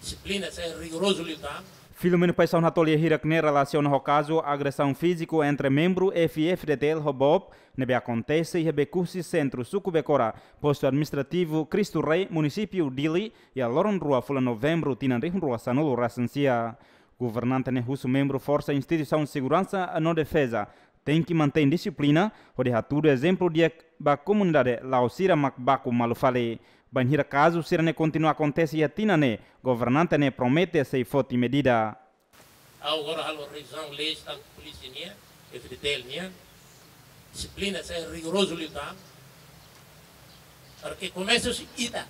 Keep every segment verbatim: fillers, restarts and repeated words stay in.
Dixiplina sai rigorozu liután. Filomeno Paixão hato'o lia hirak ne'e relasiona ho kazu agresaun fíziku entre membru F-FDTL ho BOB ne'ebé akontese iha Becusse, sentru suku Becora, postu administrativu Cristo Rei, munisípiu Dili, iha loron rua fulan Novembru tinan rihun rua sanulu resin sia. Governante ne'e husu membru forsa instituisaun seguransa no defeza tenke mantein dixiplina hodi hatudu ezemplu di'ak ba komunidade, la'ós sira mak baku malu fali. Bainhira kazu sira-ne'e kontinua akontese iha tinan ne'e, governante ne'e promete sei foti medida. Ha'u agora halo revizaun leis, tantu polísia nian, F-FDTL nian, dixiplina sai rigorozu liután. Para ke komesa husi ita.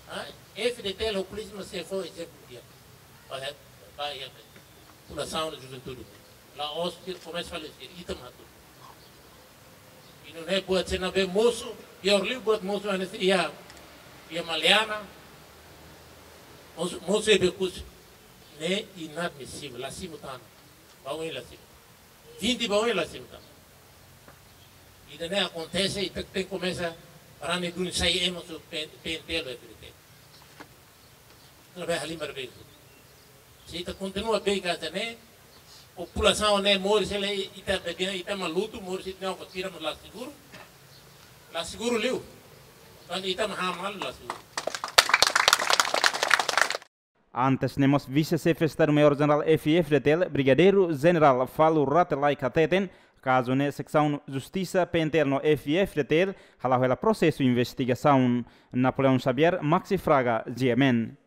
Ah, F-FDTL ho polísia mak sei fó ezemplu di'ak. Ba, ba, ba, populasaun, juventude. La'ós sira komesa fali sira, ita mak hatudu. I nune'e buat sira ne'ebé mosu, piór liu buat mosu hanesan iha, iha Maliana, mosu, mosu iha Becusse. Ne'e inadmisivel, la simu tan. Ba oin la simu. Vinte ba oin la simu tan. Ida-ne'e akontese, ita tenke komesa rani duni sai ema husi P-, PNTL, F-FDTL. Ita labele halimar beijo. Se ita kontinua beijo ka ita-nia populasaun ne'e moris hela, ita bebia, ita mak lutu, moris ita-nia opa tira mak la seguru. La seguru liu. Kan ita mak hamalu la seguru. Antes ne'e mós Vise-Xefe Estadu-Maiór Jenerál F-FDTL, Brigadeiru Jenerál Falo Rate Laek hateten, kazu ne'e Seksaun Justisa PNTL no F-FDTL hala'o hela prosesu investigasaun. Napoleão Xavier, Maxi Fraga, G M N.